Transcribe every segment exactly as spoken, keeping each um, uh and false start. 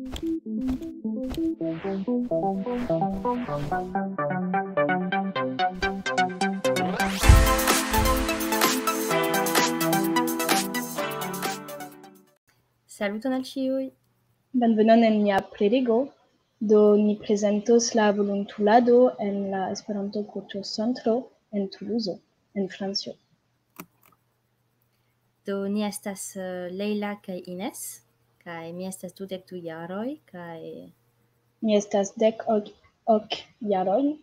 Saluton al ĉiuj! Bonvenon en nia prelego. Do ni prezentos la volontulado en la Esperanto-Kulturcentro en Tuluzo, en Francio. Do ni estas uh, Leila kaj Ines, kaj mi estas dudek du jaroj, kaj Mi estas dek ok jaroj.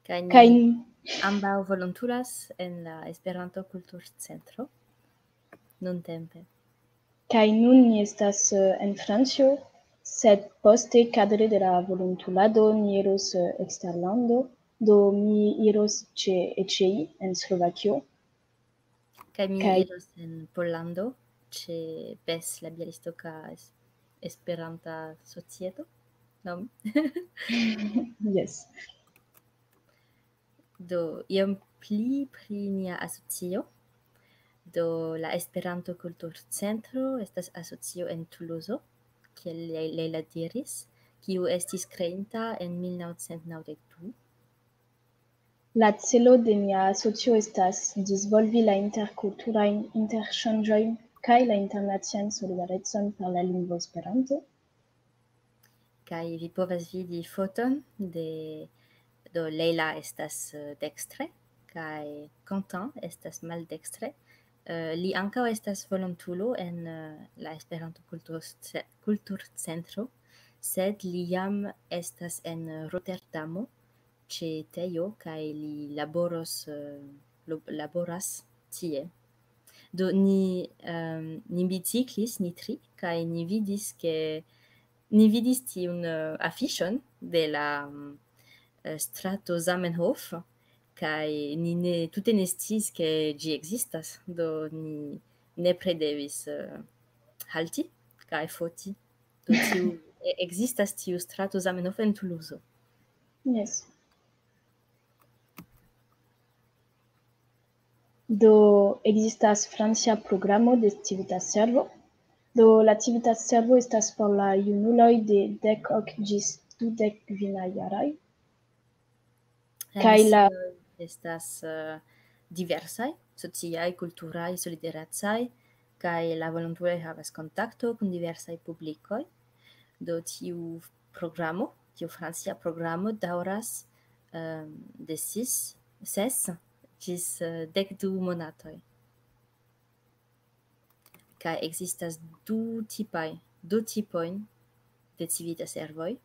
Kaj ni kaj ambaŭ volontulas en la Esperanto-Kulturcentro nuntempe. Kaj nun ni estas uh, en Francio, sed poste kadre de la volontulado ni iros uh, eksterlando, do mi iros ĉe Eĉei en Slovakio. Kaj mi kaj... iros en Pollando, ĉe Bes la Bialistoka Esperanta Societo, non? Yes. Do, iom pli pri nia asocio. Do, la Esperanto-Kulturcentro estas asocio en Tuluzo, kiel Leila diris, kiu estis kreita en mil naŭcent naŭdek du. La celo de nia asocio estas disvolvi la interkulturajn interŝanĝojn kaj la internacian solidarecon per la lingvo Esperanto. Kaj vi povas vidi foton de, do Leila estas uh, dekstre, kaj Quentin estas maldekstre. Uh, li ankaŭ estas volontulo en uh, la Esperanto-Kulturcentro, sed li jam estas en Rotterdamo ĉe Tejo kaj li laboros, uh, laboras tie. Do ni, um, ni biciklis, ni tri, kaj ni vidis, ke ni vidis tiun uh, afiŝon de la um, strato Zamenhof, kaj ni ne, tute ne sciis, ke ĝi ekzistas, do ni nepre devis uh, halti kaj foti. Do tiu, ekzistas tiu strato Zamenhof en Tuluzo. Yes. Do ekzistas francia programo de Civita Servo. Do la Civita Servo estas por la junuloj de dek ok ĝis dudek kvin jaroj. Kaj la estas uh, diversaj, sociaj, kulturaj, solidaracaj, kaj la volontuloj havas kontakto kun diversaj publikoj. Do tiu programo, tiu francia programo daŭras um, de sis, ses ĝis uh, dek du monatoj. Kaj ekzistas du tipaj, du tipojn de Civita Servoj.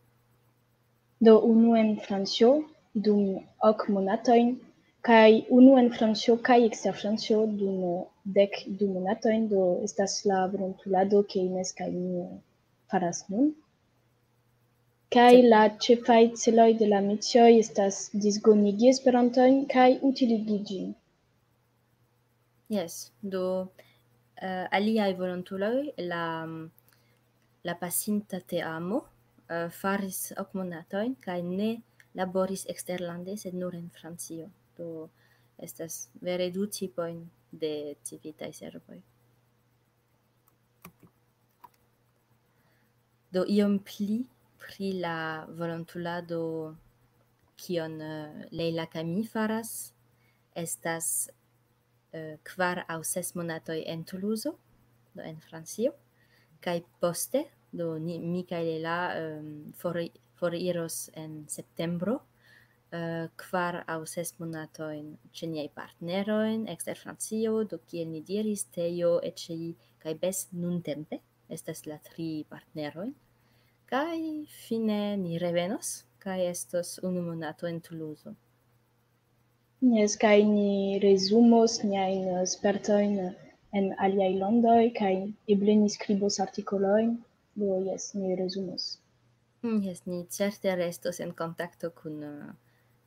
Do unu en Francio dum ok monatojn, kaj unu en Francio kaj ekster Francio dum dek du monatojn, do estas la volontulado, ke Ines kaj mi faras nun. Kaj la ĉefaj celoj de la misioj estas disgonigi Esperanton kaj utiligi ĝin. Yes, do uh, aliaj volontuloj la, la pasinta teamo uh, faris ok monatojn kaj ne laboris eksterlande, sed nur en Francio. Do estas vere du tipojn de Civitaj Servoj. Do iom pli pri la volontulado, kion uh, Leila kaj mi faras, estas uh, kvar aŭ ses monatoj en Tuluzo, do en Francio, kaj poste, do ni, mi kaj Leila um, for, foriros en septembro, uh, kvar aŭ ses monatojn ĉe niaj partnerojn ekster Francio, do kiel ni diris, Tejo, Eĉei kaj Bes nuntempe estas la tri partneroj. Kaj fine ni revenos, kaj estos unu monato en Tuluzo. Yes, kaj ni rezumos niajn spertojn en aliaj landoj, kaj eble ni skribos artikolojn. Do yes, ni rezumos. Mm, yes, ni certe restos en kontakto kun, uh,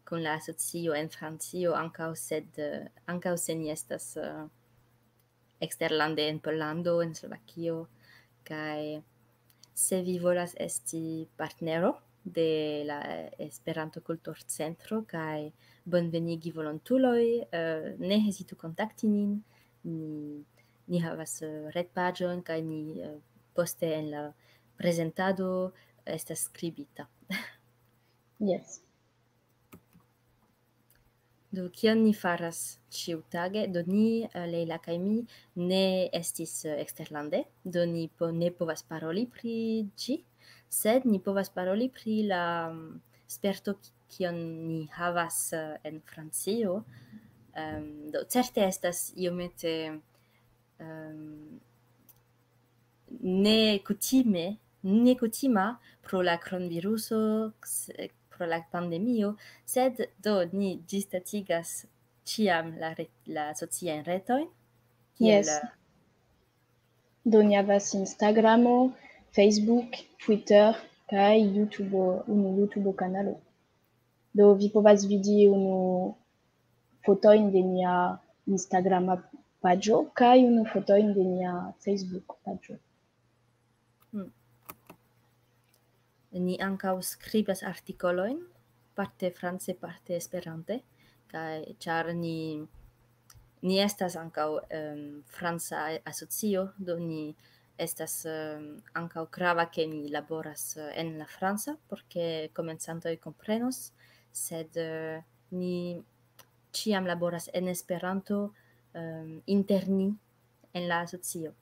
kun la asocio en Francio, ankaŭ, sed, uh, ankaŭ se ni estas uh, eksterlande en Pollando, en Slovakio, kaj se vi volas esti partnero de la Esperanto-Kulturcentro kaj bonvenigi volontuloj, uh, ne hezitu kontakti nin. Ni, ni havas uh, retpaĝon kaj ni uh, poste en la prezentado estas skribita. Yes. Do, kion ni faras ĉiutage? Do, ni, eh, Leila kaj mi, ne estis, eh, eksterlande, do ni po-, ne povas paroli pri ĝi, sed ni povas paroli pri la, mm, sperto, ki-, kion ni havas, eh, en Francio. Em, do, certe estas iomete, em, ne kutime, ne kutima pro la kronviruso, s-, pro la pandemio, sed do ni ĝisdatigas ĉiam la re-, la sociajn retojn, kiel, Yes. Do ni havas Instagramo, Facebook, Twitter, kaj YouTube, unu YouTube kanalo. Do vi povas vidi unu fotojn de nia Instagrama paĝo kaj unu fotojn de nia Facebook paĝo. Hmm. Ni ankaŭ skribas artikolojn, parte france, parte Esperante, kaj ĉar ni, ni estas ankaŭ, em, franca asocio, do ni estas, em, ankaŭ grava, ke ni laboras, eh, en la franca, por ke komencantoj komprenos, sed, eh, ni ĉiam laboras en Esperanto, em, inter ni en la asocio.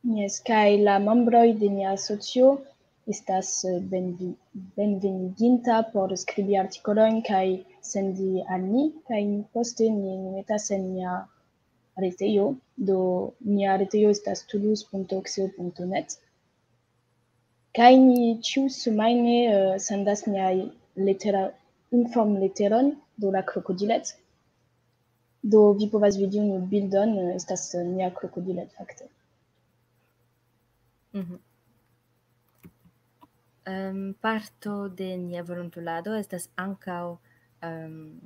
Yes, kaj la membroj de nia asocio estas, eh, benvi-, benveniginta por skribi artikolojn kaj sendi al ni, kaj poste ni, ni metas en nia retejo. Do nia retejo estas toulouse.oxeo.net. Kaj ni ĉiu semajne, eh, sendas niaj letera-, informleteron, do la krokodilet. Do vi povas vidi unu bildon, eh, estas, eh, nia krokodilet, fakte. Mhm. Em, parto de nia volontulado estas ankaŭ, em,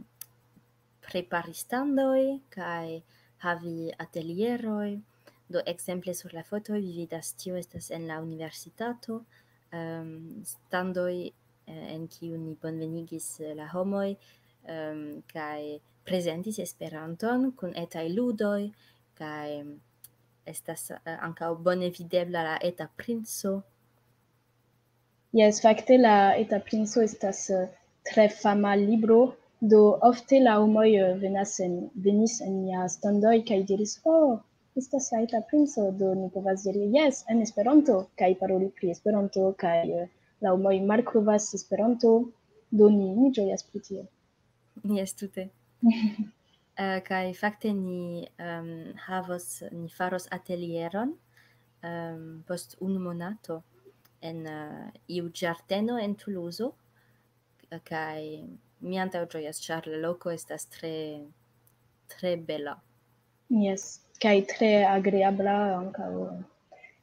prepari standoj kaj havi atelieroj. Do, ekzemple sur la fotoj vi vidas, tio estas en la universitato, em, standoj, eh, en kiu ni bonvenigis, eh, la homoj, em, kaj prezentis Esperanton kun etaj ludoj, kaj estas, eh, ankaŭ bone videbla la eta princo. Yes, fakte la eta princo estas, eh, tre fama libro, do ofte la homoj, eh, venas en, venis en nia standoj kaj diris: "Oh, estas la eta princo", do ni povas diri: "Yes", en Esperanto, kaj paroli pri Esperanto, kaj, eh, la homoj malkovras Esperanto, do ni, ni ĝojas pri tio. Yes, tute. Eh, kaj fakte ni, em, havos, ni faros atelieron, em, post unu monato en, eh, iu ĝardeno en Tuluzo, kaj mi antaŭ ĝojas, ĉar la loko estas tre, tre bela. Yes, kaj tre agreabla ankaŭ.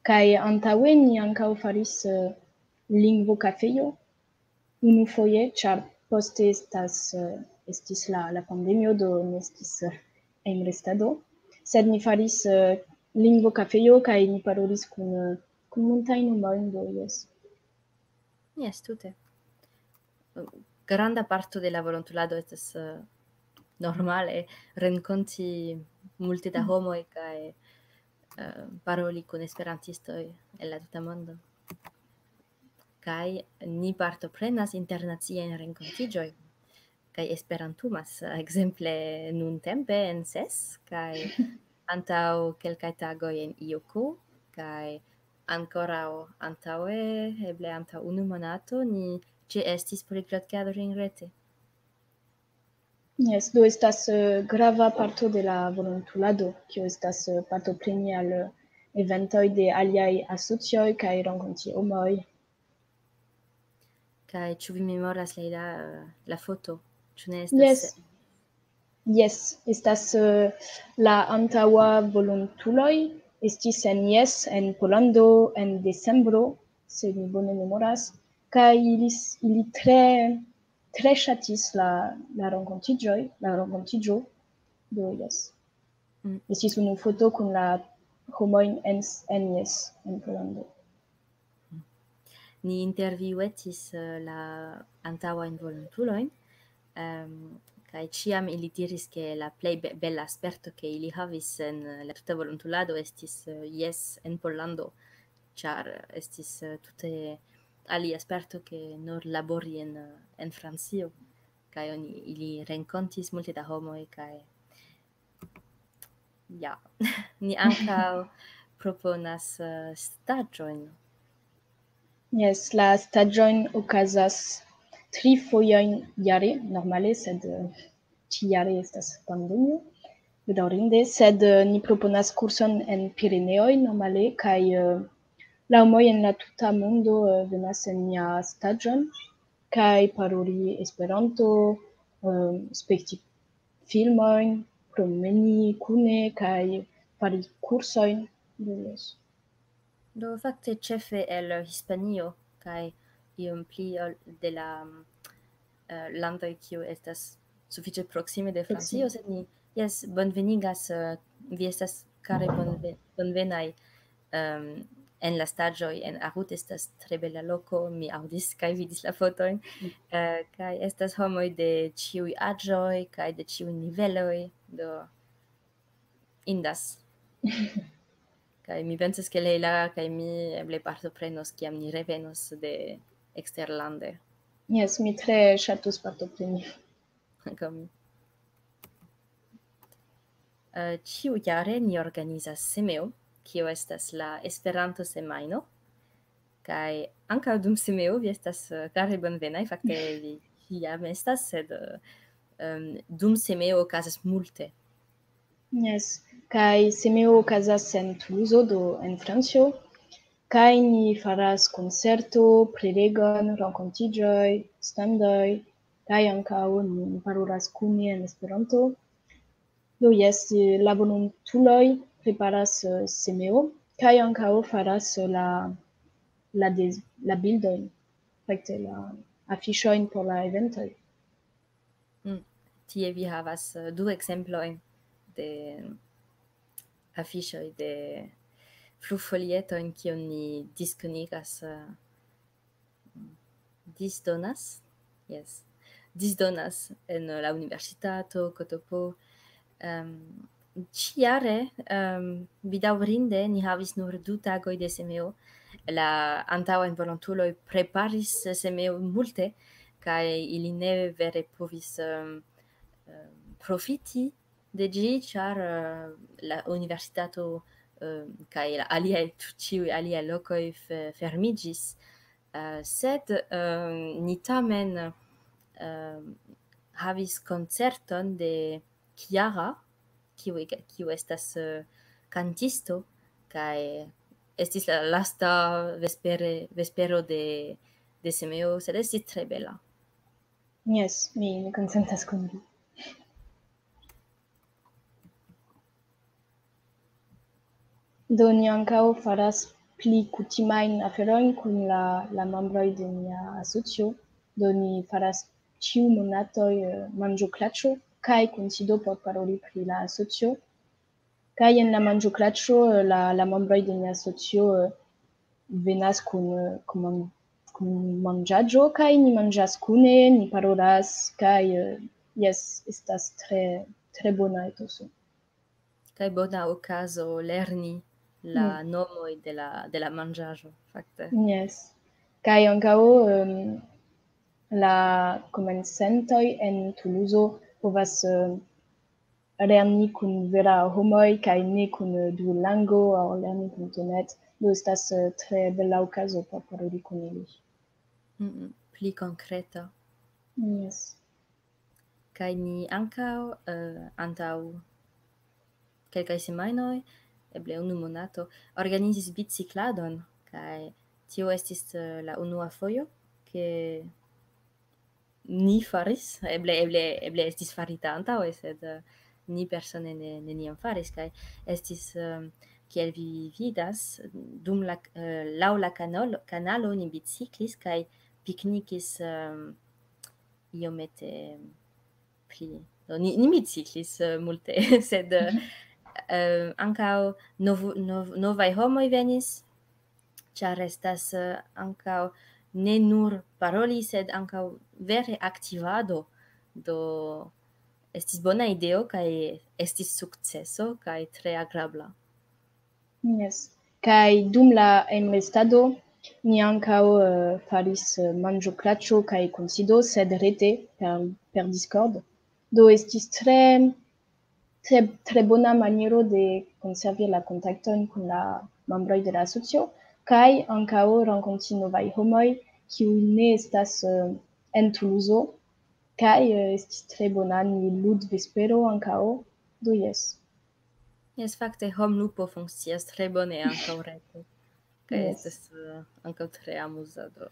Kaj antaŭe ni ankaŭ faris, eh, lingvokafejo unufoje, ĉar poste estas, eh, estis la, la pandemio, do ne estis, eh, hejmrestado. Sed ni faris, eh, lingvokafejo kaj ni parolis kun, eh, kun multajn homojn, do jes. Yes, tute. Granda parto de la volontulado estas, eh, normale renkonti multe da homoj kaj, eh, paroli kun esperantistoj el la tuta mondo. Kaj ni partoprenas internaciajn renkontiĝojn. Kaj esperantumas, ekzemple nuntempe en ses, kaj antaŭ kelkaj tagoj en Iuku, kaj ankoraŭ antaŭe, eble antaŭ unu monato, ni ĉeestis Polyglot Gathering rete. Yes, do estas, eh, grava parto de la volontulado, kio estas, eh, partopreni al, eh, eventoj de aliaj asocioj kaj renkonti homoj. Kaj ĉu vi memoras, Leila, eh, la foto? Ĉu ne estas? Yes. Yes, estas, eh, la antaŭa volontuloj estis en Yes, en Pollando, en decembro, se mi bone memoras, kaj ili s-, ili tre, tre ŝatis la, la renkontiĝoj, la renkontiĝo. Do, yes. Mm. Estis unu foto kun la homojn en s-, en Yes, en Pollando. Ni intervjuetis, eh, la antaŭajn volontulojn, em, kaj ĉiam ili diris, ke la plej be-, bela sperto, ke ili havis en, eh, la tuta volontulado estis, eh, Yes, en Pollando. ĉar estis, eh, tute alia sperto ke nur labori en, eh, en Francio, kaj oni, ili renkontis multe da homoj, kaj ja, ni ankaŭ proponas, eh, staĝojn. Jes, la staĝojn okazas tri fojojn jare, normale, sed, eh, ĉi-jare estas pandemio, bedaŭrinde, sed, eh, ni proponas kurson en Pireneoj normale, kaj, eh, la homoj en la tuta mondo, eh, venas en nia staĝon, kaj paroli Esperanto, eh, spekti filmojn, promeni kune kaj fari kursojn. Do, jes. Do, fakte, ĉefe el Hispanio kaj iom pli ol de la, eh, landoj, kiu estas sufiĉe proksime de Francio, sed ni, jes, bonvenigas, eh, vi estas kare bonve-, bonvenaj, em, en la staĝoj en Arut. Estas tre bela loko, mi aŭdis kaj vidis la fotojn, eh, kaj estas homoj de ĉiuj aĝoj kaj de ĉiuj niveloj, do indas. Kaj mi pensas, ke Leila kaj mi eble partoprenos, kiam ni revenos de eksterlande. Jes, mi tre ŝatus partopreni. Ankaŭ mi. Eh, ĉiujare ni organizas Semeo, kio estas la Esperanto-semajno, kaj ankaŭ dum Semeo vi estas, eh, kare bonvenaj, fakte vi jam estas, sed, eh, em, dum Semeo okazas multe. Jes, kaj Semeo okazas en Tuluzo, do en Francio, kaj ni faras koncerto, prelegon, renkontiĝoj, standoj, kaj ankaŭ ni parolas kune en Esperanto. Do jes, eh, la volontuloj preparas, eh, Semeo, kaj ankaŭ faras, eh, la, la dez-, la bildojn, fakte la afiŝojn por la eventoj. Mm. Tie vi havas, eh, du ekzemplojn de afiŝoj de flugfolietojn, kion ni diskonigas, eh, disdonas, jes, disdonas en la universitato, Kotopo. Em, ĉiare, em, bedaŭrinde, ni havis nur du tagoj de Semeo. La antaŭajn volontuloj preparis Semeo multe, kaj ili ne vere povis, em, em, profiti de ĝi, ĉar, eh, la universitato, eh, kaj la aliaj, ĉiuj aliaj lokoj fe-, fermiĝis. Eh, sed, eh, ni tamen, eh, havis koncerton de Chiara, kiu ege-, kiu estas, eh, kantisto, kaj estis la lasta vespere, vespero de, de Semeo, sed estis tre bela. Jes, mi, mi konsentas kun vi. Do, ni ankaŭ faras pli kutimajn aferojn kun la, la membroj de nia asocio. Do, ni faras ĉiu monatoj, eh, manĝoklaĉo kaj kunsido por paroli pri la asocio. Kaj en la manĝoklaĉo, eh, la, la membroj de nia asocio, eh, venas kun, eh, kun man-, kun manĝaĵo, kaj ni manĝas kune, ni parolas, kaj, eh, jes, estas tre, tre bona etoso. Kaj bona okazo lerni la Mm. nomoj de la, de la manĝaĵo, fakte. Jes. Kaj ankaŭ, em, la komencantoj en Tuluzo povas, em, lerni kun vera homoj kaj ne kun, eh, Duolingo aŭ lerni kun internet. Do estas, eh, tre bela okazo por paroli kun ili. Mm, pli konkreta. Jes. Kaj ni ankaŭ, eh, antaŭ kelkaj semajnoj, eble unu monato, organizis bicikladon, kaj tio estis, eh, la unua fojo, ke ni faris, eble, eble, eble estis farita antaŭe, sed, eh, ni persone ne, neniam faris, kaj estis, eh, kiel vi vidas, dum la, eh, laŭ la kanalo, kanalo ni biciklis kaj piknikis, eh, iomete pli. Do, ni, ni biciklis, eh, multe, sed, eh, Mhm. eh, ankaŭ novu-, nov-, novaj homoj venis, ĉar estas, eh, ankaŭ ne nur paroli, sed ankaŭ vere aktivado. Do, estis bona ideo kaj estis sukceso kaj tre agrabla. Jes. Kaj dum la hejmrestado ni ankaŭ eh, faris eh, manĝoklaĉo kaj kunsido, sed rete per, per Discord. Do estis tre, tre, tre bona maniero de konservi la kontaktojn kun la membroj de la asocio, kaj ankaŭ renkonti novaj homoj, kiuj ne estas eh, en Tuluzo, kaj eh, estis tre bona, ni lud vespero ankaŭ, do jes. Jes, fakte, homlupo funkcias tre bone ankaŭ rete. Kaj Jes. Estas eh, ankaŭ tre amuza, do.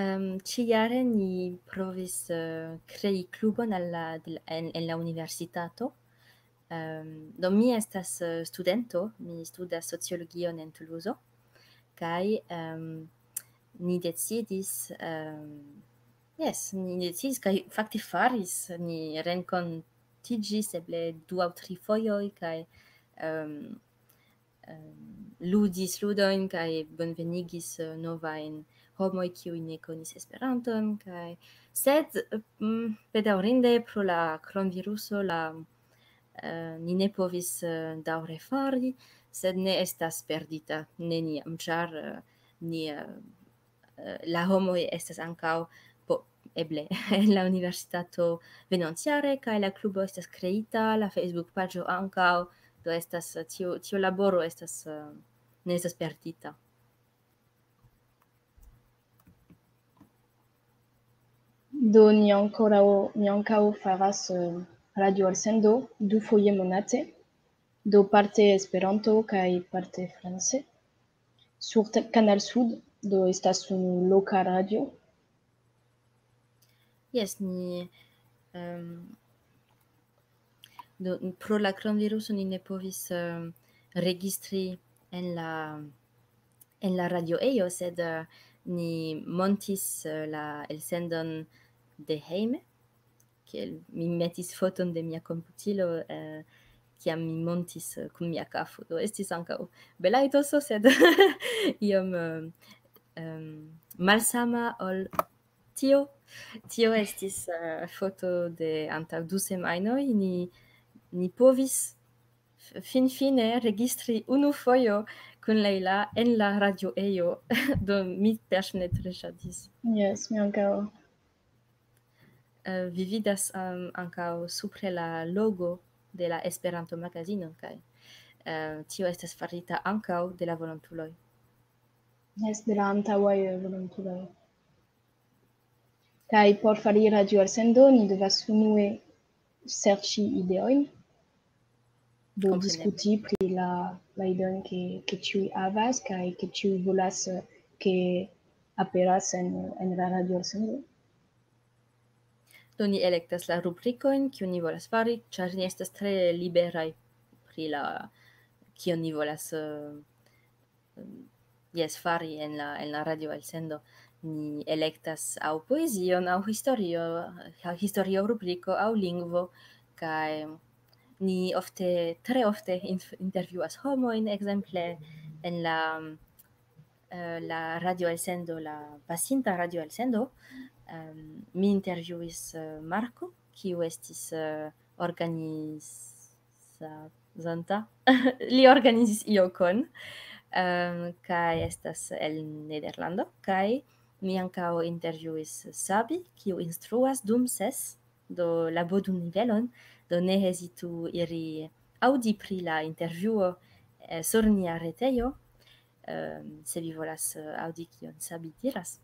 Um, ĉijare ni provis eh, krei klubon al la, de la- en, en la universitato. Um, do mi estas eh, studento, mi studas sociologion en Tuluzo, kaj um, ni decidis, um, yes, ni decidis kaj fakte faris, ni renkontiĝis eble du aŭ tri fojoj kaj um, um, ludis ludojn kaj bonvenigis eh, novajn homoj, kiuj ne konis Esperanton, kaj sed mm, bedaŭrinde pro la kronviruso la eh, ni ne povis eh, daŭre fari, sed ne estas perdita neniam, ĉar eh, ni eh, eh, la homoj estas ankaŭ po, eble en la universitato venontjare, kaj la klubo estas kreita, la Facebook-paĝo ankaŭ, do estas eh, tiu, tiu laboro estas eh, ne estas perdita. Do ni ankoraŭ, ni ankaŭ faras eh, radio elsendo dufoje monate, do parte Esperanto kaj parte france. Sur te- Kanal Sud, do estas unu loka radio. Jes, ni um, do, pro la kronviruso ni ne povis um, registri en la en la radioejo, sed uh, ni montis uh, la elsendon de hejme, kiel mi metis foton de mia komputilo, uh, kiam mi montis uh, kun mia kafo. Do estis ankaŭ bela etoso, sed iom uh, um, malsama ol tio. Tio estis uh, foto de antaŭ du semajnoj. Ni, ni povis f- finfine registri unu fojo kun Leila en la radioejo. Do mi tamen ne tre ŝatis. Jes, mi ankaŭ. Eh, vi vidas um, ankaŭ supre la logo de la Esperanto-magazino, kaj eh, tio estas farita ankaŭ de la volontuloj. Jes, de la antaŭaj eh, volontuloj. Kaj por fari radio elsendo, ni devas unue serĉi ideojn, do Kompreneble. Diskuti pri la, la ideojn, ke, ke ĉiuj havas, kaj ke ĉiuj volas, eh, ke aperas en, en la radio elsendo. Do ni elektas la rubrikojn, kiu ni volas fari, ĉar ni estas tre liberaj pri la, kion ni volas eh, jes, fari en la, en la radio elsendo. Ni elektas aŭ poezion, aŭ historio, aŭ historio rubriko, aŭ lingvo, kaj ni ofte, tre ofte inf- intervjuas homojn, ekzemple en la, eh, la radio elsendo, la pasinta radio elsendo, em, mi intervjuis eh, Marko, kiu estis eh, organizanta. Li organizis iokon, em, kaj estas el Nederlando, kaj mi ankaŭ intervjuis Sabi, kiu instruas dum ses, do la B dum nivelon, do ne hezitu iri aŭdi pri la intervjuo eh, sur nia retejo, em, se vi volas eh, aŭdi kion Sabi diras.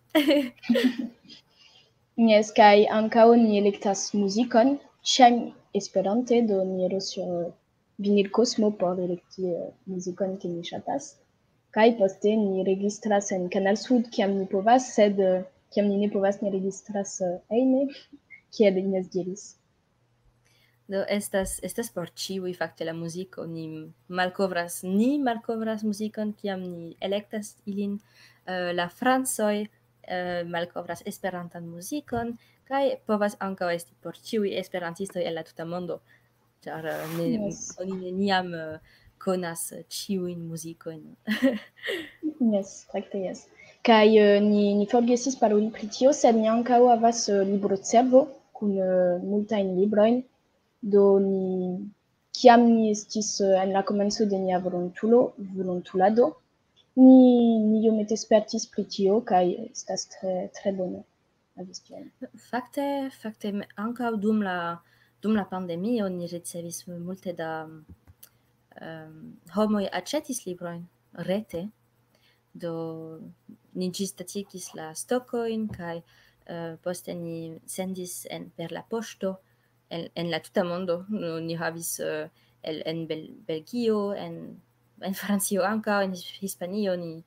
Jes, kaj ankaŭ ni elektas muzikon, ĉiam esperante, do ni iros sur eh, Vinil Cosmo por elekti eh, muzikon, ke ni ŝatas. Kaj poste ni registras en Kanal Sud, kiam ni povas, sed eh, kiam ni ne povas, ni registras eh, hejme, kiel Ines diris. Do estas, estas por ĉiuj fakte la muziko. Ni malkovras, ni malkovras muzikon, kiam ni elektas ilin. Eh, la francoj eh, malkovras esperantan muzikon, kaj povas ankaŭ esti por ĉiuj esperantistoj el la tuta mondo, ĉar eh, ne, Jes. Oni neniam eh, konas eh, ĉiujn muzikojn. Jes, fakte jes. Kaj eh, ni, ni forgesis paroli pri tio, sed ni ankaŭ havas eh, librocervo kun eh, multajn librojn. Do ni, kiam ni estis, eh, en la komenco de nia volontulo-, volontulado, ni, ni iomete spertis pri tio, kaj estas tre, tre bone havis tion. Fakte, fakte, me-, ankaŭ dum la, dum la pandemio ni ricevis multe da, em, homoj aĉetis librojn rete. Do ni ĝisdatigis la stokojn kaj, eh, poste ni sendis en, per la poŝto en, en la tuta mondo. Nu, ni havis, eh, el, en Bel-, Belgio, en, en Francio ankaŭ, en His-, Hispanio ni,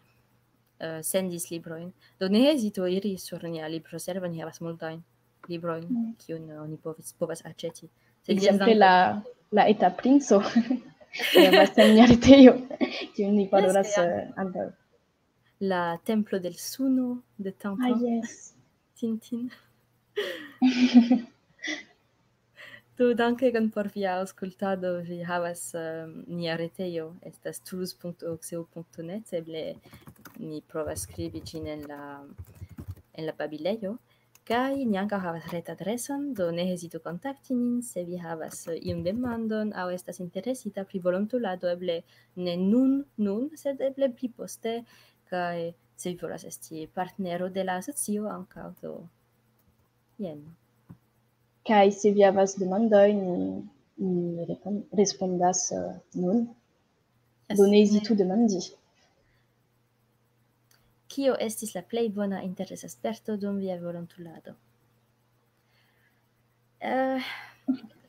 eh, sendis librojn. Do ne hezitu iri sur nia libroservo, ni havas multajn librojn, Mm. kiujn, eh, oni povis, povas aĉeti. Se ĝi Ekzemple estas la, la Eta Princo. Havas en nia retejo, kiun ni Jes, parolas, ja. eh, antaŭ. La Templo del Suno de Ah, Tintin. Jes. Tintin. Do, dankegon por via aŭskultado. Vi havas, ehm, nia retejo, estas toulouse.oxeo.net, eble ni provas skribi ĝin en la, en la babilejo. Kaj ni ankaŭ havas retadreson, do ne hezitu kontakti nin, se vi havas, eh, iun demandon aŭ estas interesita pri volontulado, eble ne nun, nun, sed eble pli poste, kaj se vi volas esti partnero de la asocio ankaŭ, do jen. Kaj se vi havas demandojn, ni, ni repon-, respondas, eh, nun. Jes. Do ne hezitu demandi. Kio estis la plej bona interesa sperto dum via volontulado? Eh,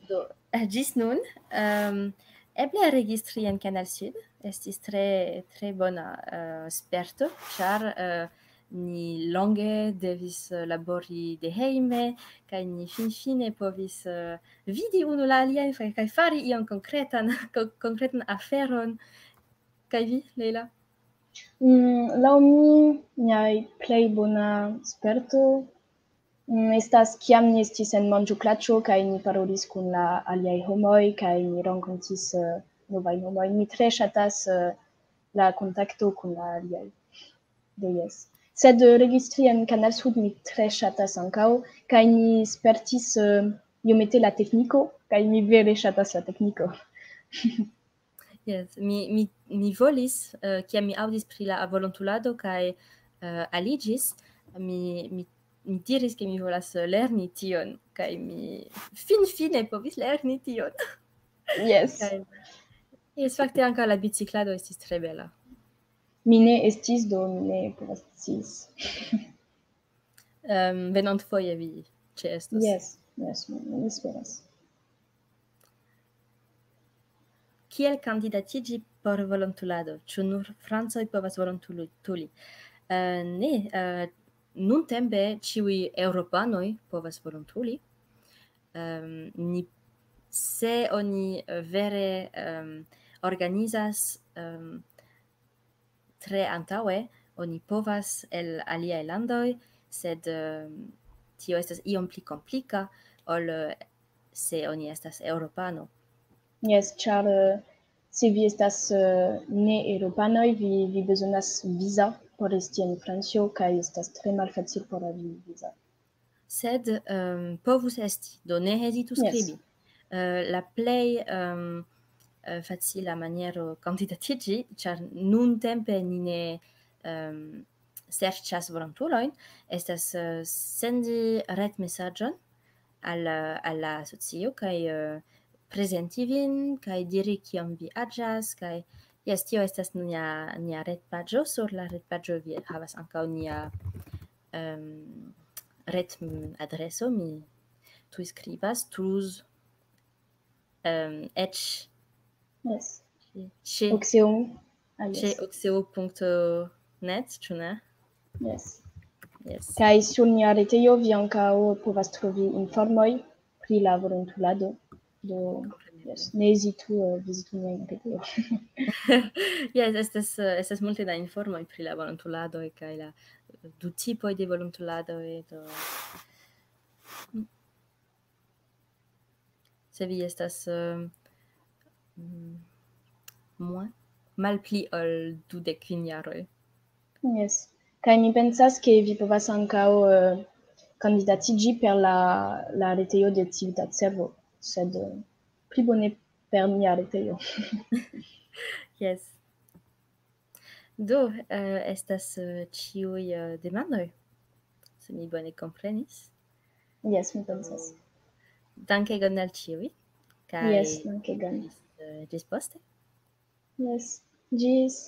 do, eh, ĝis nun, ehm, eble registri en Kanal Sud estis tre, tre bona, eh, sperto, ĉar, eh, ni longe devis, eh, labori de hejme, kaj ni finfine povis, eh, vidi unu la alian, fa-, kaj fari ion konkretan, ko-, konkretan aferon. Kaj vi, Leila? Mm, laŭ mi, miaj plej bona sperto, mm, estas kiam ni estis en manĝoplaĉo kaj ni parolis kun la aliaj homoj kaj ni renkontis, eh, novajn homojn. Mi tre ŝatas, eh, la kontakto kun la aliaj. Do jes. Sed, eh, registri en Kanal Sud mi tre ŝatas ankaŭ, kaj mi spertis, eh, iomete la tekniko, kaj mi vere ŝatas la tekniko. Jes, mi, mi, mi volis, eh, kiam mi aŭdis pri la volontulado kaj, eh, aliĝis, mi, mi, mi diris, ke mi volas lerni tion, kaj mi finfine povis lerni tion. Jes. Kaj, jes, fakte ankaŭ la biciklado estis tre bela. Mi ne estis, do mi ne povas sciis. Ehm, venantfoje vi ĉeestos. Jes, jes, mi, mi esperas. Kiel kandidatiĝi por volontulado? Ĉu nur francoj povas volontuli-, tuli? Eh, ne, eh, nuntempe ĉiuj eŭropanoj povas volontuli. Ehm, ni, se oni, eh, vere, ehm, organizas, ehm, tre antaŭe, oni povas el aliaj landoj, sed, ehm, tio estas iom pli komplika ol, eh, se oni estas eŭropano. Jes, ĉar, eh, se vi estas, eh, ne eŭropanoj, vi, vi bezonas viza por esti en Francio, kaj estas tre malfacil por havi viza. Sed, ehm, povus esti, do ne hezitu Jes. skribi. Eh, la plej, ehm, eh, facila maniero kandidatiĝi, ĉar nuntempe ni ne, ehm, serĉas volontulojn, estas, eh, sendi retmesaĝon al, al la asocio kaj, eh, prezenti vin kaj diri kiom vi aĝas kaj, jes, tio estas nia, nia retpaĝo. Sur la retpaĝo vi havas ankaŭ nia, ehm, retadreso, mi tuj skribas, Toulouse, ehm, eĉ Jes. ĉe, Oxeo. Ah, ĉe jes. oxeo.net, ĉu ne? Jes. Jes. Kaj sur nia retejo vi ankaŭ povas trovi informoj pri la volontulado. Do, Kompreneble. jes, ne hezitu, eh, vizitu niajn retejojn. Jes, estas, eh, estas multe da informoj pri la volontuladoj kaj la, eh, du tipoj de volontuladoj, do. Se vi estas, eh, mm, moins, malpli ol dudek kvin jaroj. Jes. Kaj mi pensas, ke vi povas ankaŭ, eh, kandidatiĝi per la, la retejo de Civitate Servo, sed, eh, pli bone per mia retejo. Jes. Do, eh, estas eh, ĉiuj eh, demandoj, se mi bone komprenis. Jes, mi pensas. Dankegon al ĉiuj. Kaj Jes, dankegon. Ĝis, eh, ĝis poste. Jes, ĝis.